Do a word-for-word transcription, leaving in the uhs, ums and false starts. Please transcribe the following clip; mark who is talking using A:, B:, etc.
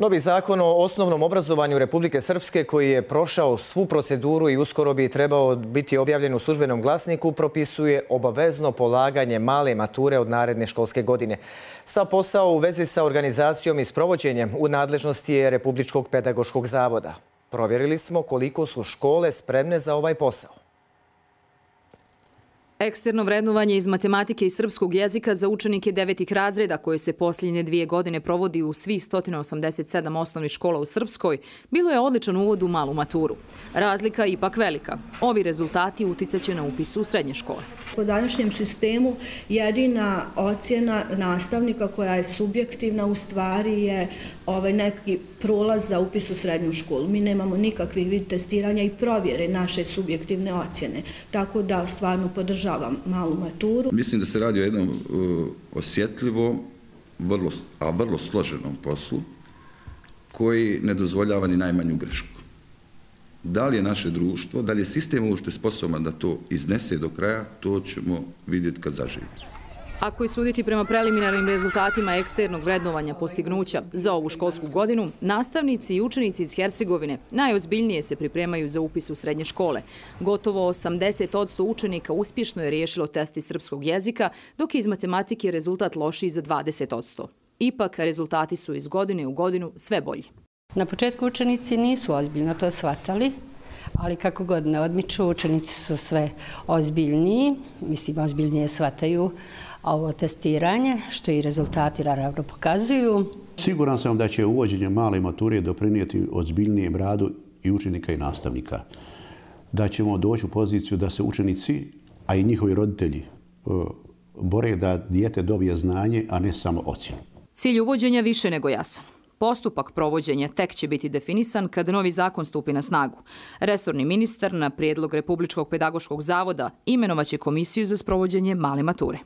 A: Novi zakon o osnovnom obrazovanju Republike Srpske, koji je prošao svu proceduru i uskoro bi trebao biti objavljen u službenom glasniku, propisuje obavezno polaganje male mature od naredne školske godine. Sav posao u vezi sa organizacijom i sprovođenjem u nadležnosti je Republičkog pedagoškog zavoda. Provjerili smo koliko su škole spremne za ovaj posao.
B: Eksterno vrednovanje iz matematike i srpskog jezika za učenike devetih razreda, koje se posljednje dvije godine provodi u svih sto osamdeset sedam osnovnih škola u Srpskoj, bilo je odličan uvod u malu maturu. Razlika je ipak velika. Ovi rezultati uticaće na upis u srednje škole.
C: Po današnjem sistemu jedina ocjena nastavnika koja je subjektivna u stvari je ovaj neki prolaz za upis u srednju školu. Mi nemamo nikakvih vid testiranja i provjere naše subjektivne ocjene. Tako da stvarno podržavam malu maturu.
D: Mislim da se radi o jednom uh, osjetljivom, vrlo, a vrlo složenom poslu koji ne dozvoljava ni najmanju grešku. Da li je naše društvo, da li je sistem uopšte sposoban da to iznese do kraja, to ćemo vidjeti kad zaživi.
B: Ako je suditi prema preliminarnim rezultatima eksternog vrednovanja postignuća za ovu školsku godinu, nastavnici i učenici iz Hercegovine najozbiljnije se pripremaju za upis u srednje škole. Gotovo osamdeset posto učenika uspješno je riješilo test iz srpskog jezika, dok je iz matematike rezultat lošiji za dvadeset posto. Ipak, rezultati su iz godine u godinu sve bolji.
E: Na početku učenici nisu ozbiljno to shvatali, ali kako godine odmiču, učenici su sve ozbiljniji, mislim, ozbiljnije shvataju ovo testiranje, što i rezultati naravno pokazuju.
F: Siguran sam da će uvođenje male mature doprinijeti ozbiljnijem radu i učenika i nastavnika. Da ćemo doći u poziciju da se učenici, a i njihovi roditelji, bore da dijete dobije znanje, a ne samo ocjenu.
B: Cilj uvođenja više nego jasan. Postupak provođenja tek će biti definisan kad novi zakon stupi na snagu. Resorni ministar na prijedlog Republičkog pedagoškog zavoda imenovaće komisiju za sprovođenje male mature.